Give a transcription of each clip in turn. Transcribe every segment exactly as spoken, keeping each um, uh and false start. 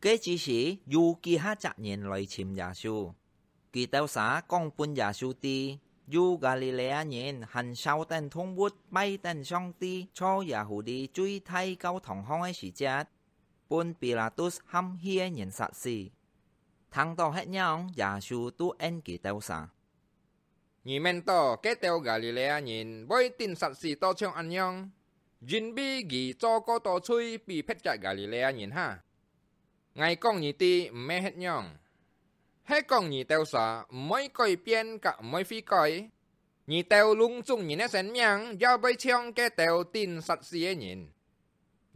該之時，有幾下隻人來尋耶穌。佢兜儕講分耶穌知，有加利利亞人還燒等動物拜等上帝，在耶穌裡最大教堂項个時節，分彼拉多喊戲个人殺死。聽到係恁樣，耶穌就應佢兜儕：你免到該兜加利利亞人會頂殺死到像恁樣，因為佢做過多罪比別隻加利利亞人哈。𠊎講你知，毋係係恁樣。係講你兜儕毋會改變，甲毋會悔改，你兜攏總人个生命也會像該兜頂殺死个人。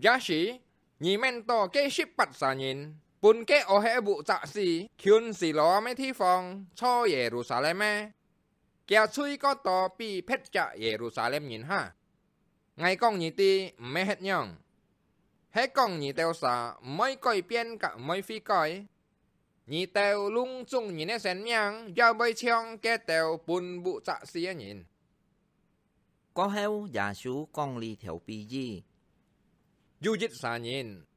這時，你免到該十八儕人，分該屙核个屋宅死，近西羅亞个地方，在耶路撒冷个，厥罪過多比別隻耶路撒冷人哈。𠊎講你知，毋係係恁樣。係講你兜儕毋會改變，甲毋會悔改，你兜攏總人个生命也會像該兜分屋宅死个人。 過後，耶穌講這條比喻：有一儕人，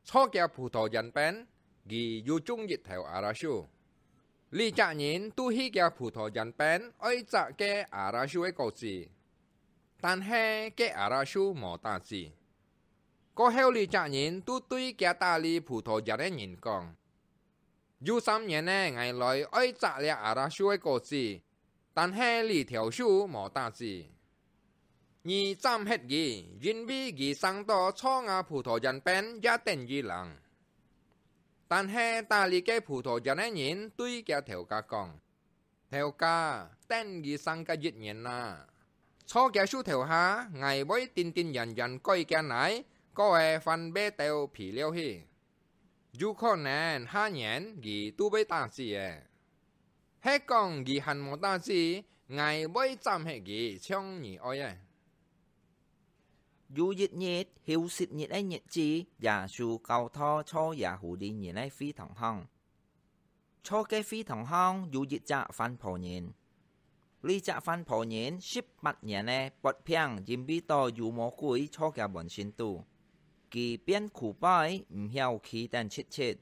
在厥葡萄園邊，佢有種一頭阿拉樹。這隻人就去厥葡萄園邊，愛摘該阿拉樹个果子，但係該阿拉樹無打子。過後，這隻人就對厥打理葡萄園个人講： 有三年了，𠊎來愛摘這阿拉樹个果子，但係這頭樹無打子。你斬忒佢，因為佢生到在吾葡萄園邊也等於零。但係打理該葡萄園个人對厥頭家講：頭家，等佢生个一年啊，在厥樹頭下，𠊎會定定然然改厥泥，過後還挖兜肥料去。 有可能下年佢就會打子了。係講佢還無打子，𠊎會斬忒佢，像你愛个。有一日，休息日个日子，耶穌教導在耶戶裡人个會堂項。在該會堂項有一隻番婆人， 這隻番婆人十八年了發病，因為到有魔鬼在厥滿身肚，佢變苦背，毋曉企等直直。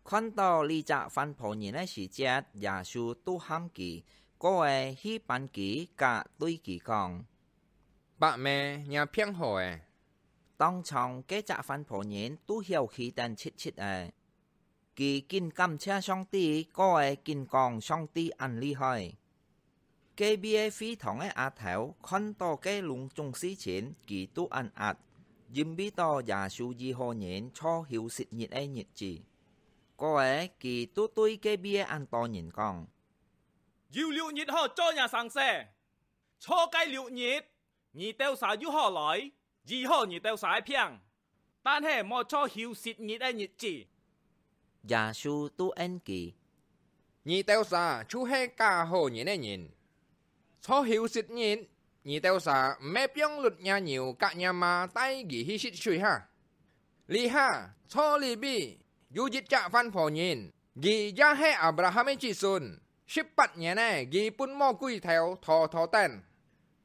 看到這隻番婆人个時節，耶穌就喊佢，過後去扳佢，甲對佢講：「伯姆，若病好了。」當場該隻番婆人就曉企等直直了。 佢緊感謝上帝，過後緊講上帝恁厲害。隔壁个會堂个阿頭看到該攏總事情，佢就恁閼，因為到耶穌醫好人在休息日个日子。過後，佢就對隔壁个恁多人講：「有六日好做若生事，在該六日， 你兜儕有好來，醫好你兜儕个病，但係莫在休息日个日子。」耶穌就應佢：「你兜儕就係假好人个人！在休息日，你兜儕毋係放攏若牛甲若馬帶佢去食水哈？這下，在這位，有一隻番婆人， 佢也係亞伯拉罕个子孫，十八年了，佢分魔鬼頭拖拖等。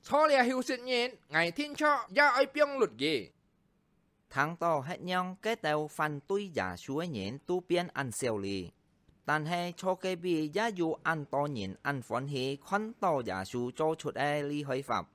在這休息日，𠊎定著也愛放攏佢。」聽到係恁樣，該兜反對耶穌个人就變恁少哩。但係在該位也有恁多人恁歡喜看到耶穌做出个厲害法。